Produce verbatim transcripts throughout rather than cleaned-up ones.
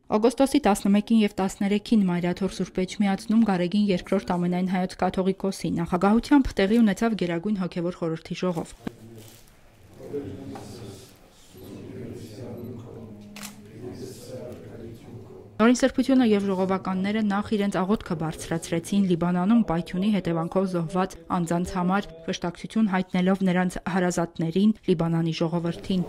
Օգոստոսի տասնմեկին և տասներեքին Մայրաթոր Սուրբ Էջմիածնում Գարեգին երկրորդ ամենայն հայոց կաթողիկոսի նախագահությամբ տեղի ունեցավ Գերագույն հոգևոր խորհրդի ժողով։ Օրինսրբությունը և ժողովականները նախ իրենց աղոթքը բարձրացրեցին Լիբանանում պայթյունի հետևանքով զոհված անձանց համար, վշտակցություն հայտնելով նրանց հարազատներին, Լիբանանի ժողովրդին։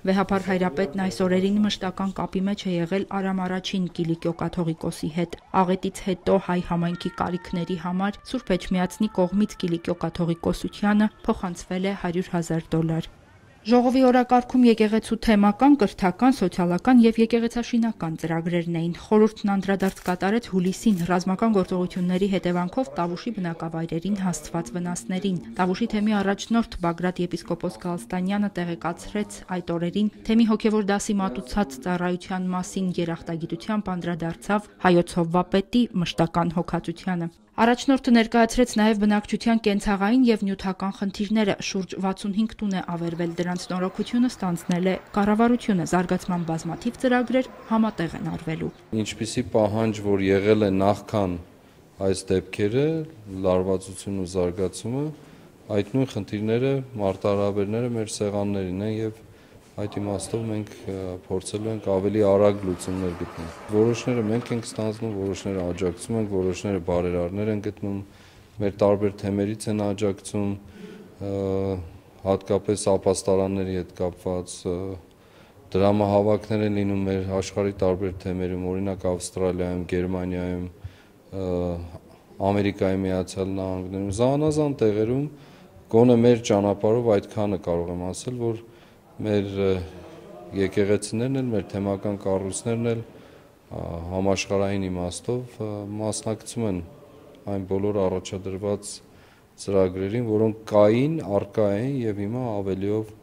Վեհափառ հայրապետն այս օրերին մշտական կապի մեջ է եղել Արամ առաջին Կիլիկիո կաթողիկոսի հետ։ Աղետից հետո հայ համայնքի կարիքների համար Սուրբ Էջմիածնի կողմից Կիլիկիո կաթողիկոսությանը փոխանցվել է հարյուր հազար դոլար։ Ժողովի օրակարգում եկեղեցու թեմական, կրթական, սոցիալական և եկեղեցաշինական ծրագրերն էին։ Խորհուրդն անդրադարձ կատարեց հուլիսին ռազմական գործողությունների հետևանքով Տավուշի բնակավայրերին հասցված վնասներին։ Տավուշի թեմի առաջնորդ Բագրատ եպիսկոպոս Գալստանյանը տեղեկացրեց այդ օրերին թեմի հոգևոր դասի մատուցած ծառայության մասին երախտագիտությամբ անդրադարձավ հայոց հովվապետի մշտական հոգացությանը։ Առաջնորդը ներկայացրեց նաև բնակչության կենցաղային և նյութական խնդիրները, շուրջ վաթսունհինգ տուն է ավերվել, դրանց նորոգությունը ստանձնել է կառավարությունը, զարգացման բազմաթիվ ծրագրեր համատեղ են արվելու։ Ինչպիսի պահանջ, որ եղել է նախքան այս դեպքերը, լարվածությունն ու զարգացումը, այդ նույն խնդիրները, մարտահրավերները մեր սեղաններին են և այդ իմաստով մենք փորձելու ենք ավելի արագ լուծումներ գտնել։ Որոշները մենք ենք ստանձնում, որոշները աջակցում ենք, որոշները բարերարներ են գտնում, մեր տարբեր թեմերից են աջակցում, հատկապես ապաստարանների հետ կապված դրամահավաքներ են լինում մեր աշխարհի տարբեր թեմերում, օրինակ Ավստրալիայում, Գերմանիայում, Ամերիկայի Միացյալ Նահանգներում, զանազան տեղերում, գոնե մեր ճանապարհով այդքանը կարող եմ ասել, որ մեր եկեղեցիներն էլ, մեր թեմական կառույցներն էլ համաշխարհային իմաստով մասնակցում են այն բոլոր առաջադրված ծրագրերին, որոնք կային, առկա են և հիմա ավելիով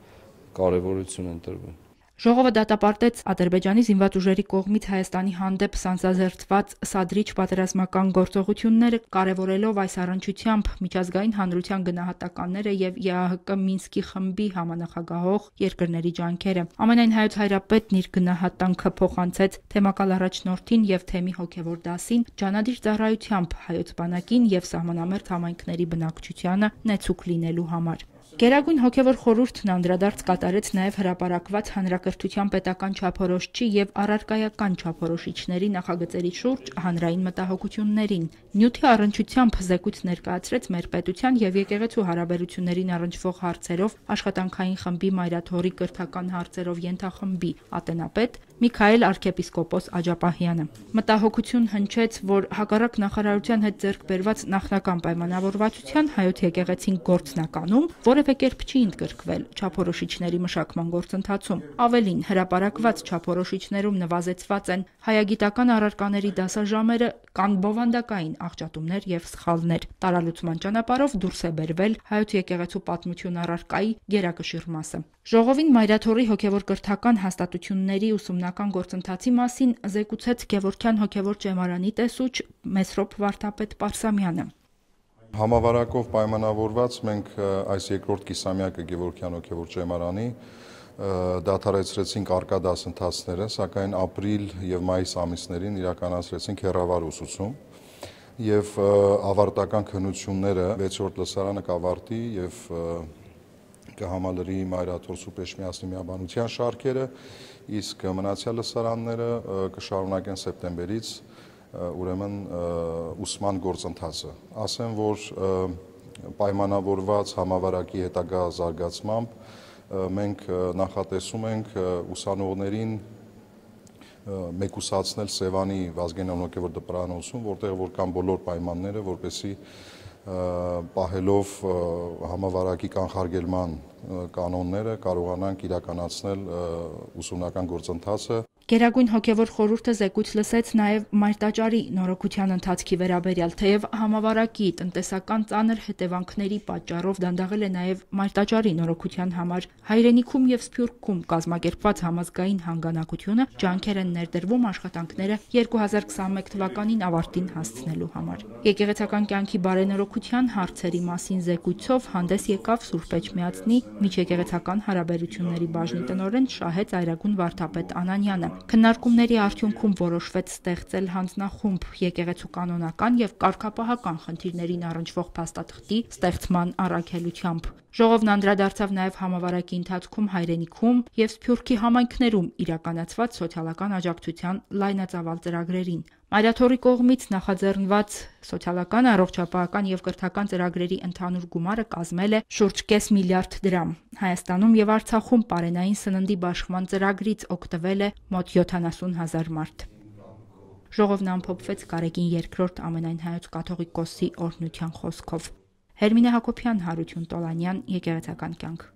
կարևորություն են տրվում։ Ժողովը դատապարտեց Ադրբեջանի զինված ուժերի կողմից Հայաստանի հանդեպ սանձազերծված սադրիչ պատերազմական գործողությունները, կարևորելով այս առնչությամբ միջազգային հանրության գնահատականները և ԵԱՀԿ Մինսկի խմբի համանախագահող երկրների ջանքերը։ Ամենայն հայոց հայրապետն իր գնահատանքը փոխանցեց թեմակալ առաջնորդին և թեմի հոգևոր դասին ջանադիր ծառայությամբ հայոց բանակին և սահմանամերձ համայնքների բնակչությանը նեցուկ լինելու համար։ Գերագույն հոգևոր խորհուրդն անդրադարձ կատարեց նաև հրապարակված հանրակրթության պետական չափորոշիչի և առարկայական չափորոշիչների նախագծերի շուրջ հանրային մտահոգություններին։ Նյութի առնչությամբ զեկույց ներկայացրեց մեր պետության և եկեղեցու հարաբերություններին առնչվող հարցերով աշխատանքային խմբի Մայրաթորի կրթական հարցերով ենթախմբի ատենապետ Միքայել arczepiskopos Աջապահյանը։ Մտահոգություն հնչեց, որ հակառակ նախարարության հետ ձեռք բերված նախնական պայմանավորվածության հայոց եկեղեցին գործնականում որևէ կերպ չի ընդգրկվել չափորոշիչների մշակման գործընթացում։ Ավելին, հրապարակված չափորոշիչներում նվազեցված են հայագիտական առարկաների դասաժամերը, կան բովանդակային աղճատումներ և սխալներ։ Տարալուծման ճանապարհով դուրս է բերվել հայոց եկեղեցու պատմություն առարկայի գերակշիռ մասը։ Ժողովին Մայրաթորի հոգևոր կրթական հաստատությունների ուսումնական գործընթացի մասին զեկուցեց Գևորգյան հոգևոր ճեմարանի տեսուչ Մեսրոպ Վարդապետ Պարսամյանը։ Համավարակով պայմանավորված մենք այս երկրորդ կիսամյակը Գևորգյան հոգևոր ճեմարանի դադարեցրեցինք առկա դասընթացները, սակայն ապրիլ և մայիս ամիսներին իրականացրեցինք հեռավար ուսուցում և ավարտական քննությունները վեցերորդ լսարանը կավարտի և կհամալրի Մայրաթոր Սուրբ Էջմիածնի միաբանության շարքերը, իսկ մնացյալ լսարանները կշարունակեն սեպտեմբերից ուրեմն ուսման գործընթացը։ Ասեմ, որ պայմանավորված համավարակի հետագա զարգացմամբ մենք նախատեսում ենք ուսանողներին մեկուսացնել Սևանի Վազգենյան հոգևոր դպրոցում, որտեղ որ կան բոլոր պայմանները, որպեսզի պահելով համավարակի կանխարգելման կանոնները կարողանանք իրականացնել ուսումնական գործընթացը։ Գերագույն հոգևոր խորհուրդը զեկույց լսեց նաև մայրտաճարի նորոգության ընթացքի վերաբերյալ, թեև համավարակի տնտեսական ծանր հետևանքների պատճառով դանդաղել է նաև մայրտաճարի նորոգության համար հայրենիքում եւ Սփյուռքում կազմակերպված համազգային հանգանակությունը, ջանքեր են ներդրվում աշխատանքները երկու հազար քսաներկու թվականին ավարտին հասցնելու համար։ Եկեղեցական կյանքի բարենորոգության հարցերի մասին զեկույցով հանդես եկավ Սուրբ Էջմիածնի միջեկեղեցական հարաբերությունների բաժնի տնօրեն Շահե Ծայրագուն Վարդապետ Անանյանը։ Քննարկումների արդյունքում որոշվեց ստեղծել հանձնախումբ եկեղեցու կանոնական եւ կարգապահական խնդիրներին առնչվող փաստաթղթի ստեղծման առաքելությամբ։ Ժողովն անդրադարձավ նաև համավարակի ընթացքում հայրենիքում եւ Սփյուռքի համայնքներում իրականացված սոցիալական աջակցության լայնածավալ ծրագրերին։ Մայրաթորի կողմից նախաձեռնված սոցիալական, առողջապահական եւ կրթական ծրագրերի ընդհանուր գումարը կազմել է շուրջ կես միլիարդ դրամ։ Հայաստանում եւ Արցախում պարենային սննդի բաշխման ծրագրից օգտվել է մոտ յոթանասուն հազար մարդ։ Ժողովն ամփոփվեց Գարեգին երկրորդ ամենայն հայոց կաթողիկոսի օրհնության խոսքով։ Հերմինե Հակոբյան, Հարություն Տոլանյան, Եկեղեցական կյանք։